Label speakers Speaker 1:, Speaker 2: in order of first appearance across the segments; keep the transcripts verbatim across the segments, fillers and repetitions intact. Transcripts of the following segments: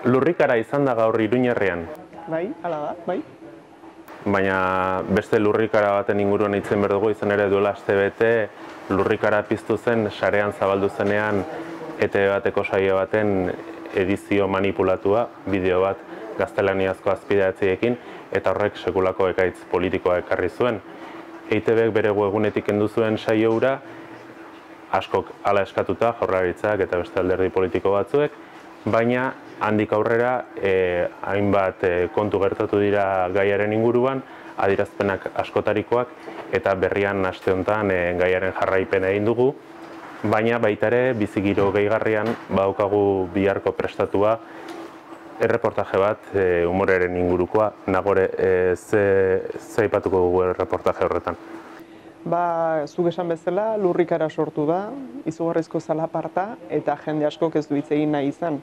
Speaker 1: Lurrikara izan da gaur Iruñerrian.
Speaker 2: Bai, hala da, bai.
Speaker 1: Baina beste lurrikara baten inguruan hitzen behar dugu, izan ere duela aste bete lurrikara piztu zen sarean zabaldu zenean E T B bateko saio baten edizio manipulatua, bideo bat gaztelaniazko azpidatzeekin, eta horrek sekulako ekaitz politikoa ekarri zuen. E T Bek bere webgunetik kendu zuen saio hura, askok hala eskatuta, Jaurlaritzak eta beste alderdi politiko batzuek, baina handik aurrera eh, hainbat eh, kontu gertatu dira gaiaren inguruan, adierazpenak askotarikoak, eta berrian aste honetan eh, gaiaren jarraipena egin dugu, baina baita ere bizigiro gehigarrian badaukagu biharko prestatua erreportaje bat e, humoreren ingurukoa. Nagore, e, ze, ze aipatuko dugu erreportaje horretan?
Speaker 2: Ba, zuk esan bezala, lurrikara sortu da, izugarrizko zalaparta, eta jende askok ez du hitz egin nahi izan.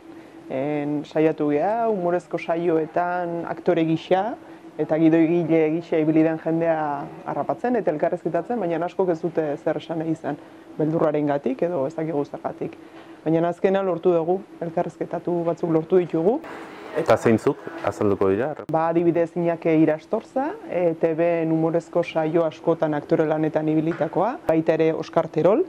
Speaker 2: En, saiatu geha, humorezko saioetan aktore gisa, eta gidoigile gisa ibili den jendea harrapatzen eta elkarrezketatzen, baina askok ez dute zer esan nahi izan, beldurrarengatik edo ez dakigu zergatik. Baina azkena lortu dugu, elkarrezketatu batzuk lortu ditugu.
Speaker 1: Eta zeintzuk azalduko dira?
Speaker 2: Ba, adibidez Iñaki Irastorza, E T B humorezko saio askotan aktore lanetan ibilitakoa, baita ere Oskar Terol,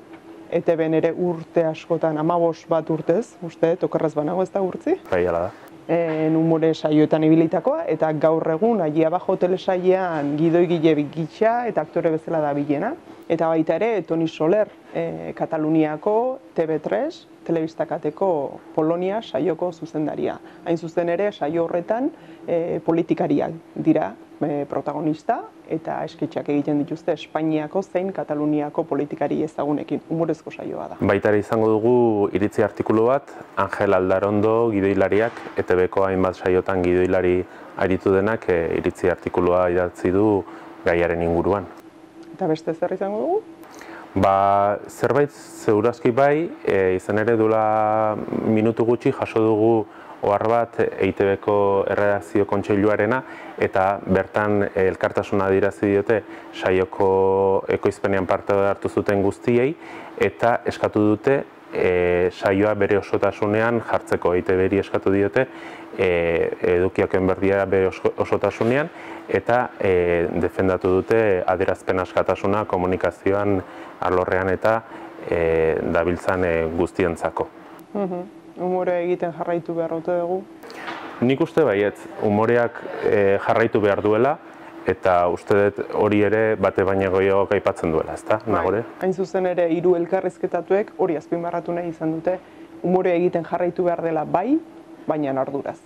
Speaker 2: E T B ere urte askotan, hamabost bat urtez, uste, okerraz banago ez da urtzi?
Speaker 1: Bai, hala da.
Speaker 2: En humore saioetan ibilitakoa, eta gaur egun Aji Abajo telesailean gidoigile gisa eta aktore bezala da bilena. Eta baita ere Toni Soler, e, Kataluniako T V tres, telebistakateko Polonia saioko zuzendaria. Hain zuzen ere saio horretan e, politikariak dira e, protagonista, eta esketxak egiten dituzte Espainiako zein Kataluniako politikari ezagunekin, humorezko saioa da.
Speaker 1: Baita ere izango dugu iritzi artikulu bat, Angel Aldarondo gidoilariak, E T Bko hainbat saiotan gidoilari aritu denak e, iritzi artikulua idatzi du gaiaren inguruan.
Speaker 2: Eta beste zer izango dugu?
Speaker 1: Ba, zerbait zeurazki bai, e, izan ere duela minutu gutxi jaso dugu ohar bat E T Bko erredakzio kontseiluarena, eta bertan elkartasuna adierazi diote saioko ekoizpenean parte hartu zuten guztiei, eta eskatu dute e, saioa bere osotasunean jartzeko. E T Bri eskatu diote e, edukioken berdia bere osotasunean, eta e, defendatu dute adierazpen askatasuna komunikazioan alorrean eta e, dabiltzan e, guztientzako.
Speaker 2: Mhm. Humore egiten jarraitu behar ote dugu?
Speaker 1: Nik uste baietz, humoreak e, jarraitu behar duela, eta uste dut hori ere bate baina gehiago aipatzen duela, ezta, Nagore?
Speaker 2: Hain zuzen ere hiru elkarrizketatuek hori azpimarratu nahi izan dute, humore egiten jarraitu behar dela bai, baina arduraz.